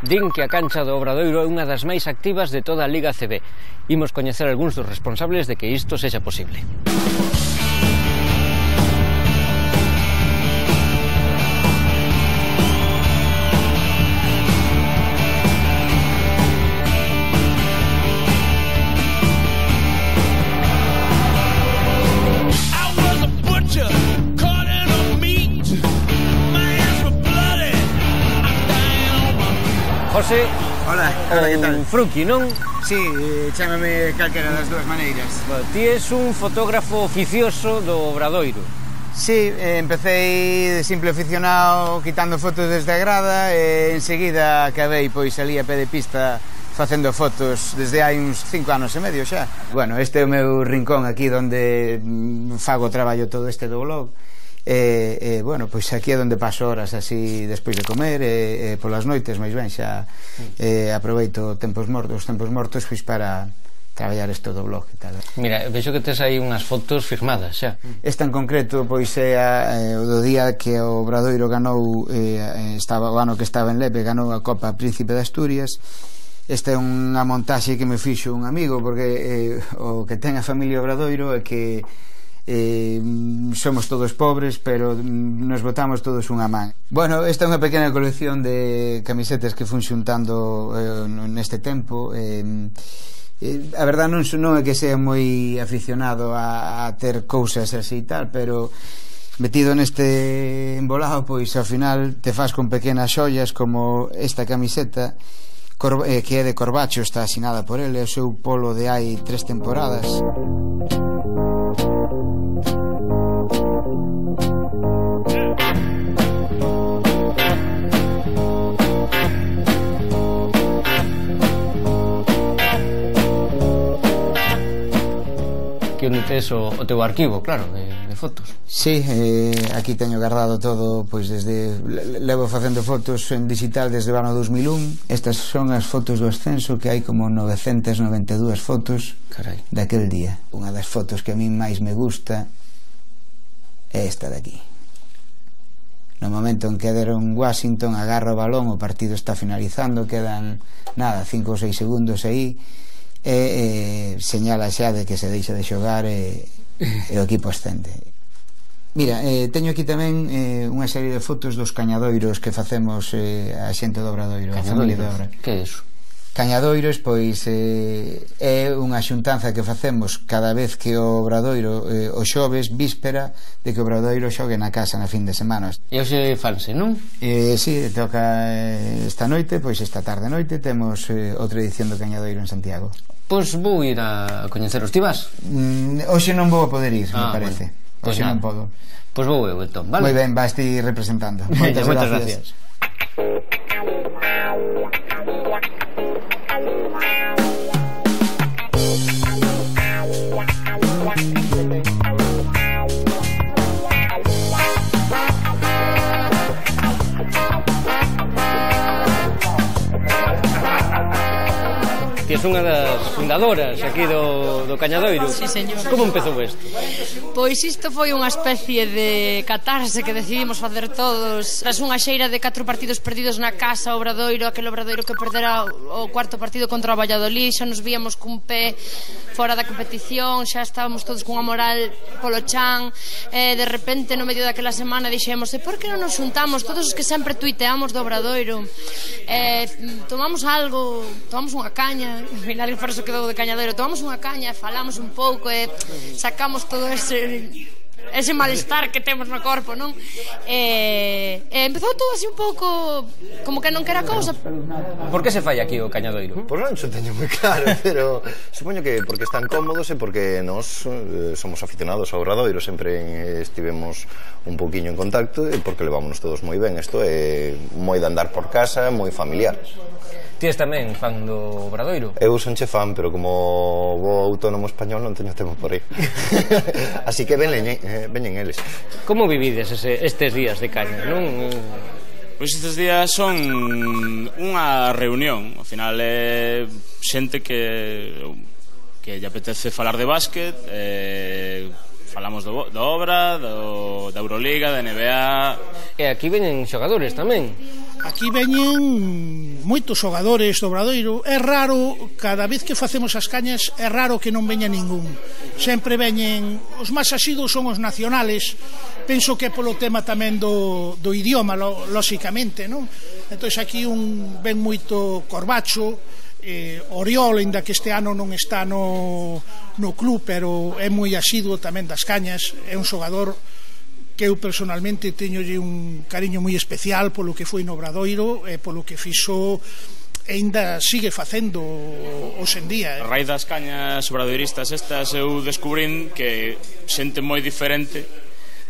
Din que a cancha do Obradoiro é unha das máis activas de toda a Liga ACB. Imos coñecer algúns dos responsables de que isto sexa posible. José, hola, que tal? Fruqui, non? Sí, chámame calquera das dúas maneiras. Ti és un fotógrafo oficioso do Obradoiro. Sí, empecé de simple aficionado quitando fotos desde a grada e enseguida acabei pois ali a pé de pista facendo fotos desde hai uns 5 anos e medio xa. Bueno, este é o meu rincón aquí onde fago o traballo todo este do blog. Bueno, pois aquí é onde paso horas así despois de comer e polas noites máis ben xa aproveito tempos mortos pois para traballar isto do blog e tal. Mira, vexo que tes aí unhas fotos firmadas xa. Esta en concreto pois é o do día que o Obradoiro ganou o ano que estaba en Lepe, ganou a Copa Príncipe de Asturias. Esta é unha montaxe que me fixo un amigo porque o que ten a familia Obradoiro é que somos todos pobres, pero nos botamos todos unha man. Bueno, esta é unha pequena colección de camisetas que fun xuntando neste tempo. A verdad non é que sea moi aficionado a ter cousas así e tal, pero metido neste embolado, pois ao final te faz con pequenas xollas como esta camiseta que é de Corbacho, está asinada por ele, o seu polo de hai 3 temporadas. Aquí onde tes o teu arquivo, claro, de fotos. Sí, aquí teño guardado todo, pois desde levo facendo fotos en digital desde o ano 2001. Estas son as fotos do ascenso, que hai como 992 fotos. Carai. Daquel día. Unha das fotos que a mí máis me gusta é esta de aquí. No momento en que deron Washington, agarra o balón, o partido está finalizando, quedan nada, 5 ou 6 segundos aí, señala xa de que se deixa de xogar e o equipo ascende. Mira, teño aquí tamén unha serie de fotos dos cañadoiros que facemos a xente do Obradoiro. Cañadoiros? Que é iso? Cañadoiros, pois é unha xuntanza que facemos cada vez que o Obradoiro o xoves, víspera de que o Obradoiro xogue na casa na fin de semana. E hoxe fanse, non? Si, toca esta noite, pois esta tarde noite temos outra edición do Cañadoiro en Santiago. Pois vou ir a coñeceros. Ti vas? Hoxe non vou a poder ir, me parece. Pois hoxe non podo. Pois vou eu, entón, vale? Moi ben, vas ti representando. Moitas gracias. Ti és unha das fundadoras aquí do Cañadoiro. Sí, señor. Como empezou isto? Pois isto foi unha especie de catarse que decidimos facer todos. Tras unha xeira de 4 partidos perdidos na casa, Obradoiro, aquel Obradoiro que perdera o 4º partido contra o Valladolid, xa nos víamos cun pé fora da competición, xa estábamos todos cunha moral polo chan, de repente no medio daquela semana dixemos, por que non nos xuntamos todos os que sempre tuiteamos do Obradoiro, tomamos algo, tomamos unha caña, ao final por eso quedou de Cañadoiro, tomamos unha caña, falamos un pouco e sacamos todo ese malestar que temos no corpo, non? Empezou todo así un pouco como que non quera cousa. Por que se fai aquí o Cañadoiro? Pois non xo teño moi claro, pero supoño que porque están cómodos e porque nós somos aficionados ao Obradoiro, sempre estivemos un pouquiño en contacto e porque levámonos todos moi ben. Isto é moi de andar por casa, moi familiar. Ti és tamén fan do Obradoiro? Eu son che fan, pero como vou autónomo español non teño tempo por aí. Así que veñen eles. Como vivides estes días de caña, non? Pois estes días son unha reunión. Ao final é xente que lle apetece falar de básquet, falamos do Obra, da Euroliga, da NBA. E aquí veñen xogadores tamén. Aquí veñen moitos xogadores do Obradoiro. É raro, cada vez que facemos as cañas, é raro que non veña ningún. Sempre veñen, os máis asidos son os nacionales. Penso que é polo tema tamén do idioma, lóxicamente, non? Entón aquí ven moito Corbacho, Oriol, ainda que este ano non está no club, pero é moi asiduo tamén das cañas. É un xogador que eu personalmente teñolle un cariño moi especial polo que foi no Obradoiro e polo que fixo e ainda sigue facendo hoxe en día. A raíz das cañas obradoiristas estas eu descubrín que xente moi diferente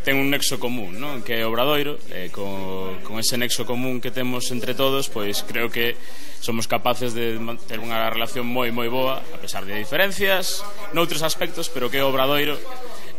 ten un nexo común, non? Que é o Obradoiro, e con ese nexo común que temos entre todos, pois creo que somos capaces de ter unha relación moi boa, a pesar de diferencias noutros aspectos, pero que o Obradoiro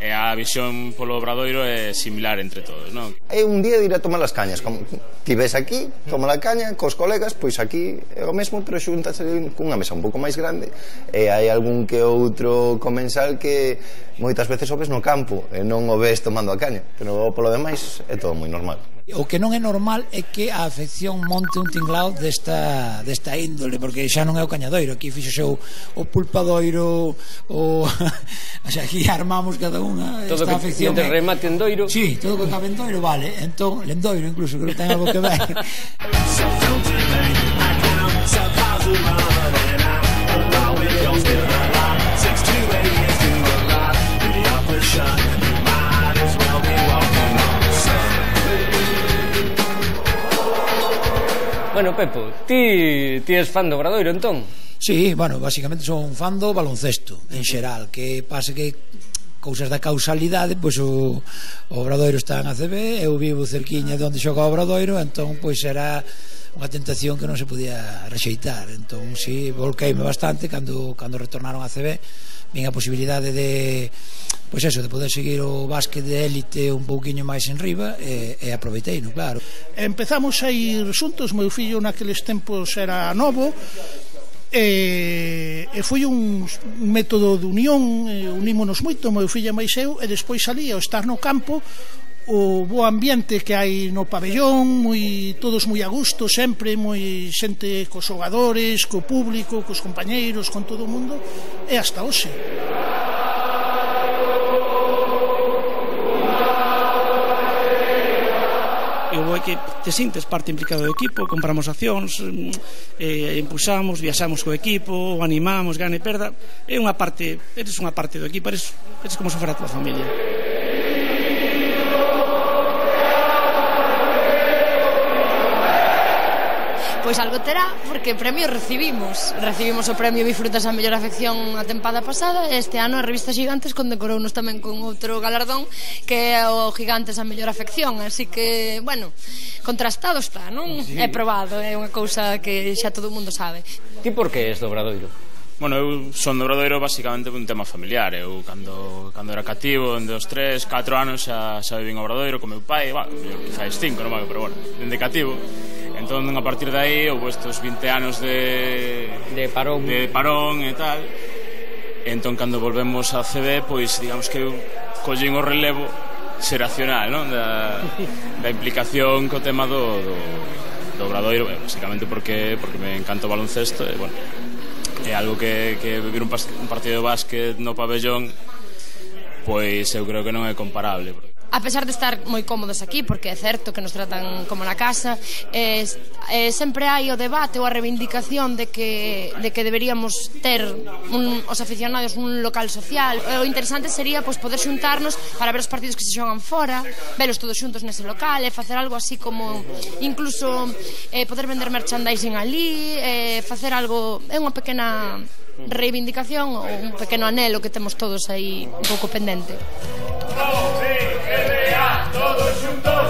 e a visión polo Obradoiro é similar entre todos, non? É un día de ir a tomar as cañas, como ti ves aquí, toma a caña cos colegas, pois aquí é o mesmo, pero xúntase cunha mesa un pouco máis grande, e hai algún que outro comensal que moitas veces o ves no campo e non o ves tomando a caña, pero polo demais é todo moi normal. O que non é normal é que a afección monte un tinglao desta índole, porque xa non é o cañadoiro, aquí fixose o pulpadoiro, aquí armamos cada unha todo esta afección. Todo que remate en doiro. Sí, todo que cabe en doiro, vale. Entón, lendoiro incluso, que non ten algo que ver. Bueno, Pepo, ti és fan do Obradoiro, entón? Sí, bueno, basicamente son fan do baloncesto, en xeral, que pase que cousas da causalidade, pois o Obradoiro está en ACB, eu vivo cerquiña de onde xoga o Obradoiro, entón, pois era unha tentación que non se podía rexeitar, entón, si, volqueime bastante cando retornaron a ACB, vin a posibilidade de pois eso, de poder seguir o básquet de élite un pouquiño máis en riba e aproveitei, no, claro. Empezamos a ir xuntos, meu fillo naqueles tempos era novo e foi un método de unión, unímonos moito, meu fillo máis eu, e despois salí ao estar no campo, o bo ambiente que hai no pabellón, todos moi a gusto, sempre moi xente cos xogadores, co público, cos compañeiros, con todo o mundo, e hasta hoxe. É que te sintes parte implicada do equipo, compramos accións, impulsamos, viaxamos co equipo, animamos, gana e perda. É unha parte, eres unha parte do equipo, eres como se fora a tua familia. Pois algo terá, porque premio recibimos o premio Bifrutas a mellor afección a tempada pasada, e este ano a revista Gigantes condecorounos tamén con outro galardón que é o Gigantes a mellor afección, así que, bueno, contrastado está, non? Sí. É probado, é unha cousa que xa todo o mundo sabe. Ti por que és do Obradoiro? Bueno, eu son do Obradoiro basicamente por un tema familiar. Eu cando era cativo, en 2, 3, 4 anos xa vivín ao Obradoiro con meu pai, quizás 5, non, pero bueno, dende cativo. Entón, a partir de aí, houve estos 20 anos de parón e tal. Entón, cando volvemos a CB, pois, digamos que eu collín o relevo xeracional, non? Da implicación co tema do Obradoiro, basicamente porque me encanta o baloncesto, e, bueno, é algo que vivir un partido de básquet no pabellón, pois eu creo que non é comparable. A pesar de estar moi cómodos aquí, porque é certo que nos tratan como na casa, sempre hai o debate ou a reivindicación de que deberíamos ter os aficionados un local social. O interesante sería poder xuntarnos para ver os partidos que se xogan fora, velos todos xuntos nese local, e facer algo así como incluso poder vender merchandising ali, facer algo, é unha pequena reivindicación ou un pequeno anhelo que temos todos aí un pouco pendente. Todos juntos,